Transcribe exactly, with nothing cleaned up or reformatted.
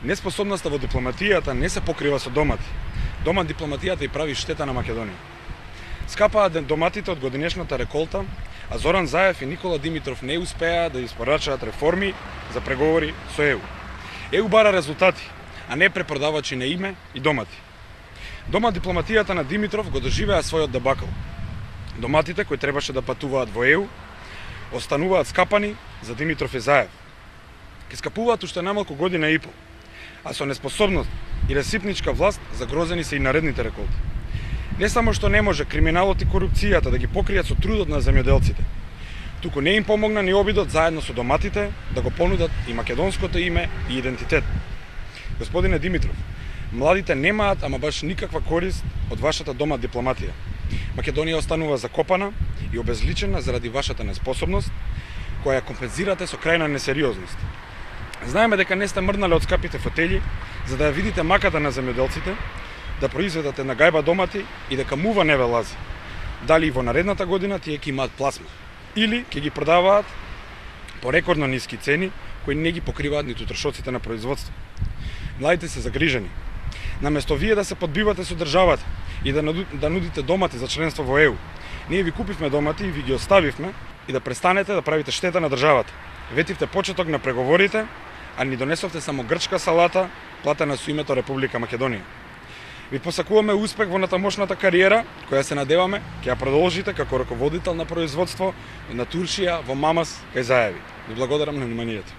Неспособноста во дипломатијата не се покрива со домати. Дома дипломатијата и прави штета на Македонија. Скапаат доматите од годинешната реколта, а Зоран Заев и Никола Димитров не успеа да испорачаат реформи за преговори со ЕУ. ЕУ бара резултати, а не препродавачи на име и домати. Дома дипломатијата на Димитров го доживеа својот дебакл. Доматите кои требаше да патуваат во ЕУ остануваат скапани за Димитров и Заев. Ке скапуваат уште најмалку година и пол, а со неспособност и ресипничка власт загрозени се и наредните реколти. Не само што не може криминалот и корупцијата да ги покријат со трудот на земјоделците, туку не им помогна ни обидот заедно со доматите да го понудат и македонското име и идентитет. Господине Димитров, младите немаат ама баш никаква корист од вашата дома дипломатија. Македонија останува закопана и обезличена заради вашата неспособност, која ја компензирате со крајна несериозност. Знаеме дека не сте мрнале од скапите фотели, за да ја видите маката на земјоделците, да произведате на гајба домати и дека мува не ве лази. Дали и во наредната година тие ќе имаат пласма, или ќе ги продаваат по рекордно ниски цени, кои не ги покриваат ниту трошоците на производство. Младите се загрижени. Наместо вие да се подбивате со државата и да, да нудите домати за членство во ЕУ, ние ви купивме домати и ви ги оставивме и да престанете да правите штета на државата. Ветивте почеток на преговорите, а ни донесовте само грчка салата, платена со името Република Македонија. Ви посакуваме успех во натамошната кариера, која се надеваме ќе ја продолжите како раководител на производство на туршија во Мамас кај Заеви. Ви благодарам на вниманието.